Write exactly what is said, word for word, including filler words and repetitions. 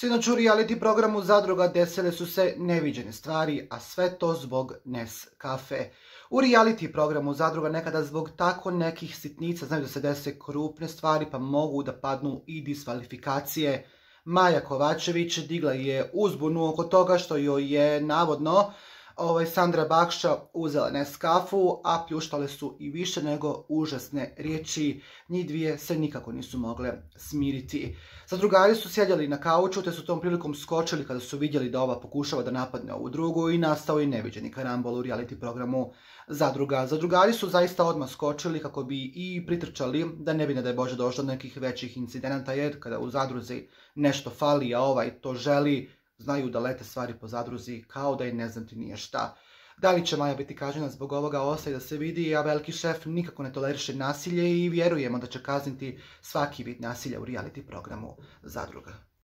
Sinoć u reality programu Zadruga desile su se neviđene stvari, a sve to zbog Neskafe. U reality programu Zadruga nekada zbog tako nekih sitnica znaju da se dese krupne stvari, pa mogu da padnu i diskvalifikacije. Maja Kovačević digla je uzbunu oko toga što joj je navodno ovaj, Sandra Bakša uzela Neskafu, a pljuštale su i više nego užasne riječi. Njih dvije se nikako nisu mogle smiriti. Zadrugari su sjedjeli na kauču, te su tom prilikom skočili kada su vidjeli da ova pokušava da napadne ovu drugu i nastao je neviđeni karambol u reality programu Zadruga. Zadrugari su zaista odmah skočili kako bi i pritrčali da ne bi, ne daj Bože, došlo do nekih većih incidenata, jer kada u Zadruzi nešto fali, a ovaj to želi, znaju da lete stvari po Zadruzi kao da i ne znam ti nije šta. Da li će Maja biti kažnjena zbog ovoga, ostaje da se vidi, a veliki šef nikako ne toleriše nasilje i vjerujemo da će kazniti svaki vid nasilja u reality programu Zadruga.